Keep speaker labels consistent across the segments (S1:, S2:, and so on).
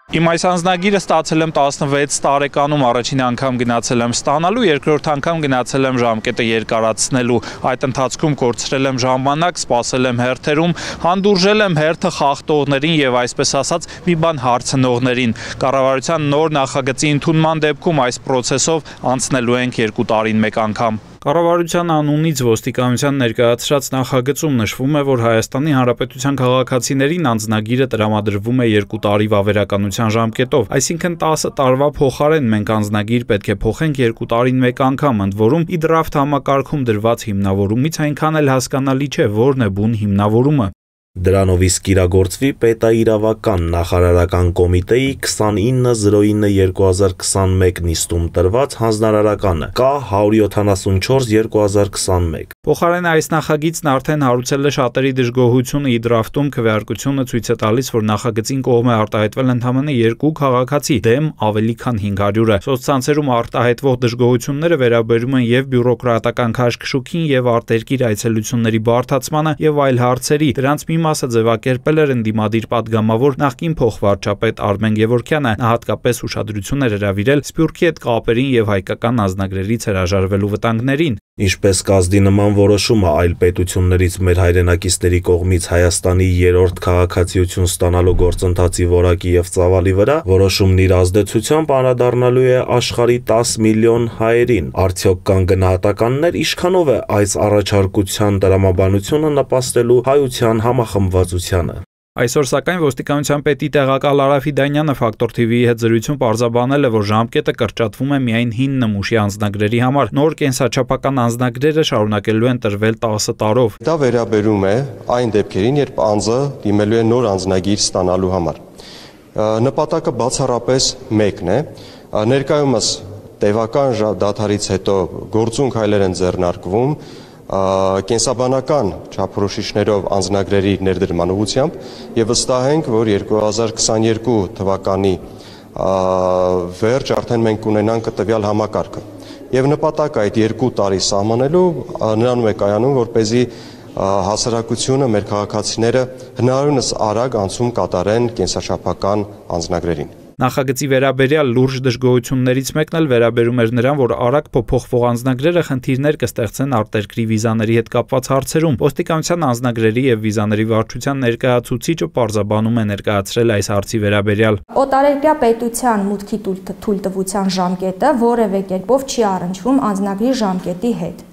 S1: Իմ այս անձնագիրը ստացել եմ 16 տարեկանում, առաջին անգամ գնացել եմ ստանալու, երկրորդ անգամ գնացել եմ ժամկետը երկարացնելու, այդ ընթացքում կորցրել եմ ժամանակ, սպասել եմ հերթերում, հանդուրժել եմ հերթը խախտողներին եւ այսպես ասած մի բան հարցնողներին։ Կառավարության նոր նախագծի ընդունման դեպքում այս process-ով անցնելու ենք 2 տարին մեկ անգամ։ Կառավարության անունից ոստիկանության ներկայացրած նախագծում նշվում է, որ Հայաստանի Հանրապետության քաղաքացիներին անձնագիրը տրամադրվում է 2 տարի վավերականության ժամկետով, այսինքն 10 տարվա փոխարեն մենք անձնագիր պետք է փոխենք 2 տարին մեկ անգամ, ընդ որում e-draft համակարգում դրված հիմնավորումից այնքան էլ հասկանալի չէ, որն է բուն հիմնավորումը։
S2: Դրանով իսկ կիրագործվի պետաիրավական նախարարական կոմիտեի 29/09/2021 նիստում տրված հանձնարարականը K 174/2021։
S1: Փոխարեն այս նախագիծն արդեն հարուցել է շատերի դժգոհությունը e-draft-ում քվեարկությունը ցույց է տալիս, որ նախագծին կողմ է արտահայտվել ընդամենը 2 քաղաքացի, դեմ ավելի քան 500-ը։ Սոցցանցերում արտահայտվող դժգոհությունները վերաբերում են եւ բյուրոկրատական քաշքշուկին եւ արտերկիր այցելությունների բարդացմանը եւ այլ հարցերի։ Դրանց մի մասը ձևակերպել էր ընդդիմադիր падգամավոր նախկին փոխվարչապետ Արմեն Գևորգյանը, նա հատկապես ուշադրություն էր հրավիրել Սփյուռքի հետ կապերին եւ հայկական անձնագրերից հրաժարվելու վտանգներին։
S2: Ինչպես կազդի նման որոշումը այլ պետություններից մեր հայրենակիցների կողմից Հայաստանի 3-րդ քաղաքացիություն ստանալու գործընթացի որակի եւ ծավալի վրա, որոշումն իր ազդեցությամբ անդրադառնալու է աշխարհի 10 միլիոն հայերին։ Արդյոք կան գնահատականներ, ինչքանով է այս առաջարկության տրամաբանությունը նպաստելու հայության համախմբվածությանը։
S1: Այսօր սակայն ոստիկանության պետի տեղակալ Արա Ֆիդանյանը Ֆակտոր TV-ի հետ զրույցում պարզաբանել է, որ ժամկետը կրճատվում է միայն հին նմուշի անձնագրերի համար, նոր կենսաչափական անձնագրերը շարունակելու են տրվել 10 տարով։
S3: Դա վերաբերում է այն դեպքերին, երբ անձը դիմելու է նոր անձնագիր ստանալու համար։ Նպատակը բացառապես մեկն է, ներկայումս տևական դադարից հետո գործունք հայլեր են ձեռնարկվում կենսաբանական չափորոշիչներով անձնագրերի ներդրման ուղղությամբ եւ վստահ ենք, որ 2022 թվականի վերջ արդեն մենք կունենանք տվյալ համակարգը։ Եվ նպատակը այդ 2 տարի սահմանելու նրանում է կայանում, որպեսզի հասարակությունը, մեր քաղաքացիները հնարավորինս արագ անցում կատարեն կենսաչափական անձնագրերին։
S1: Նախագծի վերաբերյալ լուրջ դժգոհություններից մեկն էլ վերաբերում էր նրան, որ արագ փոփոխվող անձնագրերը խնդիրներ կստեղծեն արտերկրի վիզաների հետ կապված հարցերում։ Ոստիկանության անձնագրերի եւ վիզաների վարչության ներկայացուցիչը պարզաբանում է ներկայացրել այս հարցի վերաբերյալ։
S4: Օտարերկրյա պետության մուտքի թույլտվության ժամկետը որևէ կերպով չի առնչվում անձնագրի ժամկետի հետ։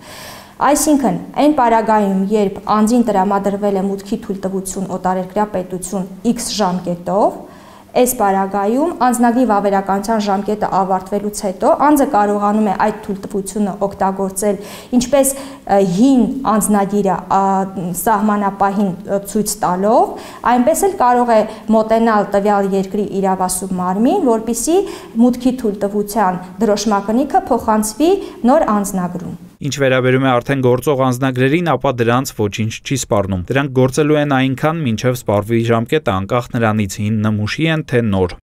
S4: Այսինքն, այն պարագայում, երբ անձին տրամադրվել է մուտքի թույլտվություն օտարերկրյա պետություն X ժամկետով, այս պարագայում անձնագրի վավերականության ժամկետը ավարտվելուց հետո անձը կարողանում է այդ թույլտվությունը օգտագործել ինչպես հին անձնագիրը սահմանապահին ցույց տալով, այնպես էլ կարող է մոտենալ տվյալ երկրի իրավասու մարմին, որպեսզի մուտքի թույլտվության դրոշմակնիքը փոխանցվի նոր անձնագրում։
S1: Ինչ վերաբերում է արդեն գործող անձնագրերին, ապա դրանց ոչինչ չի սպառնում։ Դրանք գործելու են այնքան, մինչև սպառվի ժամկետը, անկախ նրանից հին նմուշի են, թե նոր։